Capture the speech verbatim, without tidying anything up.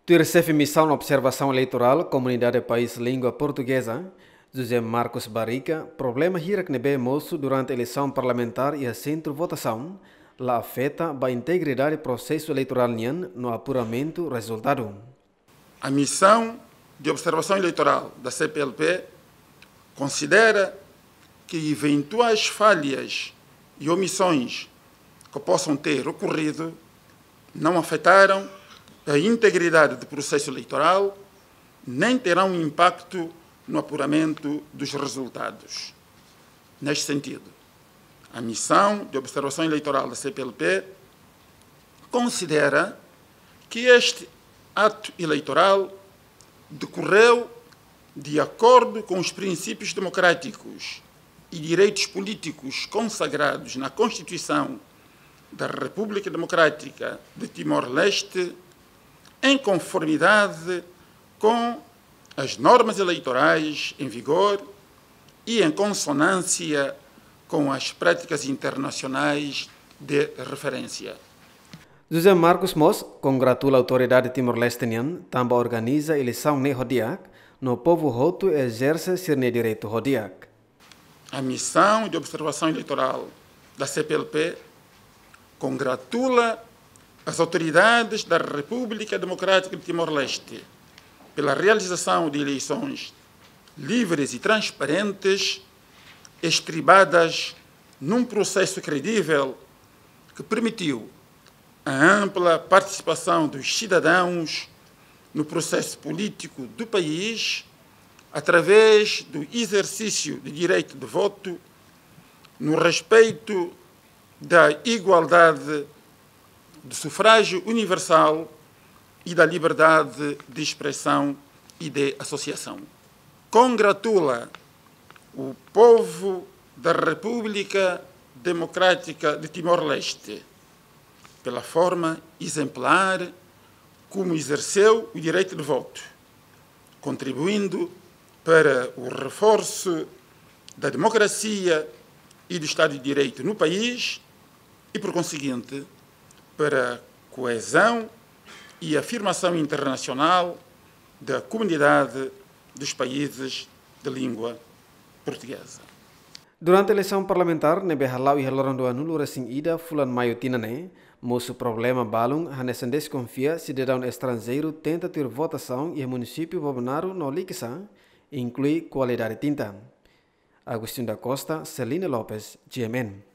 Tuir xefe misaun observasaun eleitorál Komunidade País Língua Portugeza, José Marcos Barriga, problema hirak ne'ebé mosu durante eleisaun parlamentár iha sentru votasaun la afeta ba integridade prosesu eleitorál nian no apuramentu rezultadu. A Missão de Observação Eleitorál da C P L P considera que eventuais falhas e omissões que possam ter ocorrido não afetaram a integridade do processo eleitoral, nem terão impacto no apuramento dos resultados. Neste sentido, a Missão de Observação Eleitorál da C P L P considera que este ato eleitoral decorreu de acordo com os princípios democráticos e direitos políticos consagrados na Constituição da República Democrática de Timor-Leste, em conformidade com as normas eleitorais em vigor e em consonância com as práticas internacionais de referência. José Marcos mós kongratula autoridade Timor-Leste nian tanba organiza eleisaun ne'e ho di'ak, no povu hotu ezerse sira-nia direitu ho di'ak. A Missão de Observação Eleitorál da C P L P congratula as autoridades da República Democrática de Timor-Leste pela realização de eleições livres e transparentes, estribadas num processo credível que permitiu a ampla participação dos cidadãos no processo político do país, através do exercício de direito de voto, no respeito da igualdade, do sufrágio universal e da liberdade de expressão e de associação. Congratula o povo da República Democrática de Timor-Leste pela forma exemplar como exerceu o direito de voto, contribuindo para o reforço da democracia e do Estado de Direito no país e, por conseguinte, para a coesão e afirmação internacional da comunidade dos países de língua portuguesa. Durante eleisaun parlamentár ne'ebé hala'o iha loron dua nulu resin ida fulan Maiu tinan ne'e, mosu problema balun hanesan deskonfia sidadaun estranjeiru tenta tuir votasaun iha munisípiu Bobonaro no Likisá, inklui kualidade tinta. Agostinho da Costa, Celine Lopes, G M N.